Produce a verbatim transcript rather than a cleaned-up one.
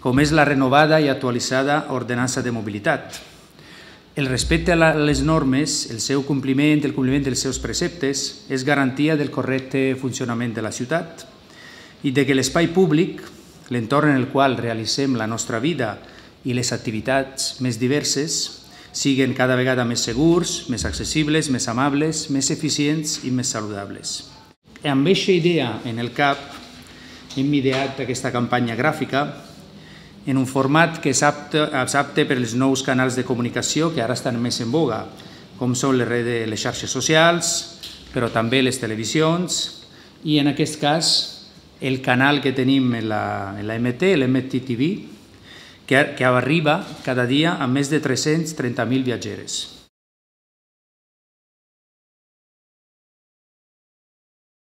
com és la renovada i actualitzada ordenança de mobilitat. El respecte a les normes, el seu compliment, el compliment dels seus preceptes, és garantia del correcte funcionament de la ciutat i de que l'espai públic, l'entorn en el qual realitzem la nostra vida i les activitats més diverses, siguin cada vegada més segurs, més accessibles, més amables, més eficients i més saludables. Amb aquesta idea en el cap, hem ideat aquesta campanya gràfica en un format que és apte, és apte per als nous canals de comunicació que ara estan més en boga, com són les, redes, les xarxes socials, però també les televisions i, en aquest cas, el canal que tenim en la, en la M T, l'M T T V, que, que arriba cada dia a més de tres-cents trenta mil viatgers.